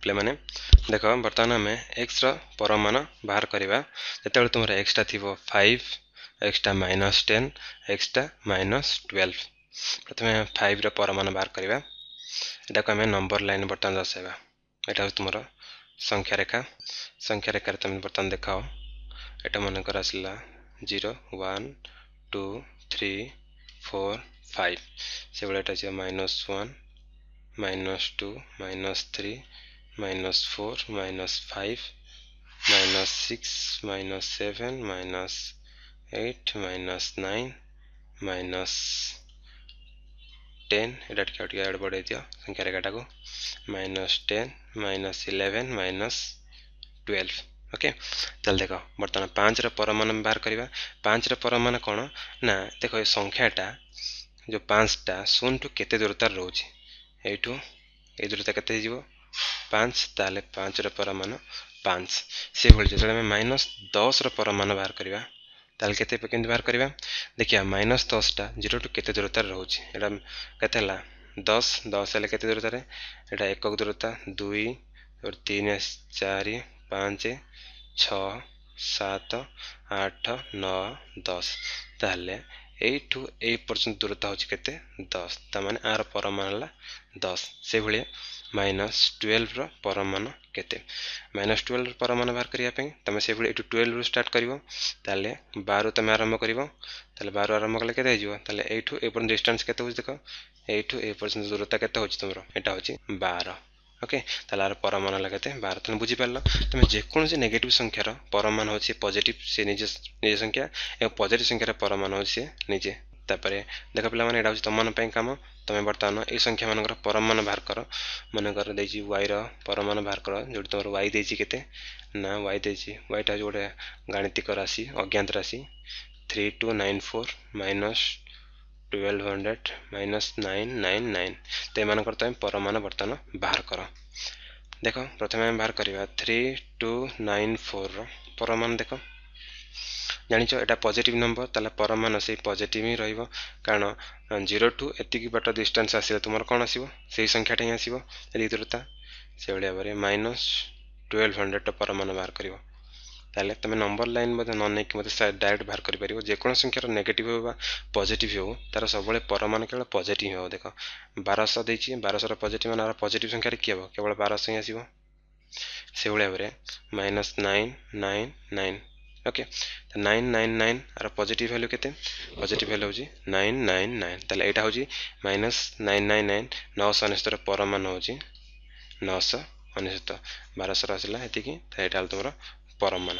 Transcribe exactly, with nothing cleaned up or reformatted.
ପିଲାମାନେ ଦେଖ ବର୍ତ୍ତମାନ ଆମେ ଏକ୍ସର ପରମ ମାନ ବାହାର କରିବା ଯେତେବେଳେ ତୁମର ଏକ୍ସଟା ଥିବ five extra minus ten extra minus twelve ପ୍ରଥମେ ଫାଇଭ୍ର ପରମ ମାନ ବାହାର କରିବା ଏଟାକୁ ଆମେ ନମ୍ବର ଲାଇନ୍ ବର୍ତ୍ତମାନ ଦର୍ଶାଇବା ଏଇଟା ହେଉଛି ତୁମର ସଂଖ୍ୟା ରେଖା ସଂଖ୍ୟା ରେଖାରେ ତୁମେ ବର୍ତ୍ତମାନ ଦେଖାଅ ଏଇଟା ମନେକର ଆସିଲା zero one two three four five ସେଭଳି ଏଇଟା ଆସିବ minus one minus two minus three minus four minus five minus six minus seven minus eight minus nine minus ten ଏଇଟା ଟିକେ ଆଉ ଟିକେ ଆଡ଼େ ବଢ଼େଇ ଦିଅ ସଂଖ୍ୟା ରେଖାଟାକୁ minus ten minus eleven minus twelve okay ତାହେଲେ ଦେଖ ବର୍ତ୍ତମାନ ପାଞ୍ଚର ପରମ ମାନ ବାହାର କରିବା ପାଞ୍ଚର ପରମ ମାନ କ'ଣ ନା ଦେଖ ଏ ସଂଖ୍ୟାଟା ଯେଉଁ ପାଞ୍ଚଟା ଶୂନଠୁ କେତେ ଦୂରତାରେ ରହୁଛି ଏଇଠୁ ଏଇ ଦୂରତା କେତେ ହେଇଯିବ ପାଞ୍ଚ ତାହେଲେ ପାଞ୍ଚର ପରମ ମାନ ପାଞ୍ଚ ସେଭଳି ଯେତେବେଳେ ଆମେ ମାଇନସ୍ ଦଶର ପରମ ମାନ ବାହାର କରିବା ତାହେଲେ କେତେ କେମିତି ବାହାର କରିବା ଦେଖିବା ମାଇନସ୍ ଦଶଟା ଜିରୋଠୁ କେତେ ଦୂରତାରେ ରହୁଛି ଏଇଟା କେତେ ହେଲା ଦଶ ଦଶ ହେଲେ କେତେ ଦୂରତାରେ ଏଇଟା ଏକକ ଦୂରତା ଦୁଇ ତିନି ଚାରି ପାଞ୍ଚ ଛଅ ସାତ ଆଠ ନଅ ଦଶ ତାହେଲେ ଏଇଠୁ ଏଇ ପର୍ଯ୍ୟନ୍ତ ଦୂରତା ହେଉଛି କେତେ ଦଶ ତାମାନେ ଆର ପରମ ମାନ ହେଲା ଦଶ ସେଇଭଳିଆ ମାଇନସ୍ ଟୁଏଲ୍ଭର ପରମ ମାନ କେତେ ମାଇନସ୍ ଟୁଏଲ୍ଭର ପରମ ମାନ ବାହାର କରିବା ପାଇଁ ତୁମେ ସେଇଭଳି ଏଇଠୁ ଟୁଏଲ୍ଭରୁ ଷ୍ଟାର୍ଟ କରିବ ତାହେଲେ ବାରରୁ ତୁମେ ଆରମ୍ଭ କରିବ ତାହେଲେ ବାରରୁ ଆରମ୍ଭ କଲେ କେତେ ହେଇଯିବ ତାହେଲେ ଏଇଠୁ ଏ ପର୍ଯ୍ୟନ୍ତ ଡିଷ୍ଟାନ୍ସ କେତେ ହେଉଛି ଦେଖ ଏଇଠୁ ଏ ପର୍ଯ୍ୟନ୍ତ ଦୂରତା କେତେ ହେଉଛି ତୁମର ଏଇଟା ହେଉଛି ବାର ଓକେ ତାହେଲେ ଆର ପରମ ମାନ ହେଲା କେତେ ବାର ତୁମେ ବୁଝିପାରିଲ ତୁମେ ଯେକୌଣସି ନେଗେଟିଭ୍ ସଂଖ୍ୟାର ପରମ ମାନ ହେଉଛି ପଜିଟିଭ୍ ସେ ନିଜେ ନିଜ ସଂଖ୍ୟା ଏବଂ ପଜିଟିଭ୍ ସଂଖ୍ୟାର ପରମ ମାନ ହେଉଛି ସେ ନିଜେ ତାପରେ ଦେଖ ପିଲାମାନେ ଏଇଟା ହେଉଛି ତୁମମାନଙ୍କ ପାଇଁ କାମ ତୁମେ ବର୍ତ୍ତମାନ ଏଇ ସଂଖ୍ୟାମାନଙ୍କର ପରମ ମାନ ବାହାର କର ମନେକର ଦେଇଛି ୱାଇର ପରମ ମାନ ବାହାର କର ଯେଉଁଠି ତୁମର ୱାଇ ଦେଇଛି କେତେ ନା ୱାଇ ଦେଇଛି ୱାଇଟା ହେଉଛି ଗୋଟେ ଗାଣିତିକ ରାଶି ଅଜ୍ଞାତ ରାଶି three two nine four minus twelve hundred minus nine nine nine ତ ଏମାନଙ୍କର ତୁମେ ପରମ ମାନ ବର୍ତ୍ତମାନ ବାହାର କର ଦେଖ ପ୍ରଥମେ ଆମେ ବାହାର କରିବା ଥ୍ରୀ ଟୁ ନାଇନ୍ ଫୋର୍ର ପରମ ମାନ ଦେଖ ଜାଣିଛ ଏଇଟା ପଜିଟିଭ୍ ନମ୍ବର ତାହେଲେ ପରମ ମାନ ସେଇ ପଜିଟିଭ୍ ହିଁ ରହିବ କାରଣ ଜିରୋ ଟୁ ଏତିକି ବାଟ ଡିଷ୍ଟାନ୍ସ ଆସିଲେ ତୁମର କ'ଣ ଆସିବ ସେଇ ସଂଖ୍ୟାଟା ହିଁ ଆସିବ ଏତିକି ଦୂରତା ସେଇଭଳି ଭାବରେ ମାଇନସ୍ ଟୁଏଲ୍ଭ ହଣ୍ଡ୍ରେଡ଼ର ପରମ ମାନ ବାହାର କରିବ ତାହେଲେ ତୁମେ ନମ୍ବର ଲାଇନ୍ ମଧ୍ୟ ନ ନେଇକି ମଧ୍ୟ ଡାଇରେକ୍ଟ ବାହାର କରିପାରିବ ଯେକୌଣସି ସଂଖ୍ୟାର ନେଗେଟିଭ୍ ହେଉ ବା ପଜିଟିଭ୍ ହେଉ ତାର ସବୁବେଳେ ପରମ ମାନ କେବଳ ପଜିଟିଭ୍ ହେବ ଦେଖ ବାରଶହ ଦେଇଛି ବାରଶହର ପଜିଟିଭ୍ ମାନ ଆର ପଜିଟିଭ୍ ସଂଖ୍ୟାରେ କିଏ ହେବ କେବଳ ବାରଶହ ହିଁ ଆସିବ ସେଇଭଳି ଭାବରେ minus nine nine nine okay nine nine nine ଆର ପଜିଟିଭ୍ ଭ୍ୟାଲୁ କେତେ ପଜିଟିଭ୍ ଭ୍ୟାଲୁ ହେଉଛି ନାଇନ୍ ନାଇନ୍ ନାଇନ୍ ତାହେଲେ ଏଇଟା ହେଉଛି ମାଇନସ୍ ନାଇନ୍ ନାଇନ୍ ନାଇନ୍ ନଅଶହ ଅନେଶତର ପରମ ମାନ ହେଉଛି ନଅଶହ ଅନେଶତ ବାରଶହର ଆସିଲା ଏତିକି ତ ଏଇଟା ହେଲା ତୁମର ପରମ ମାନ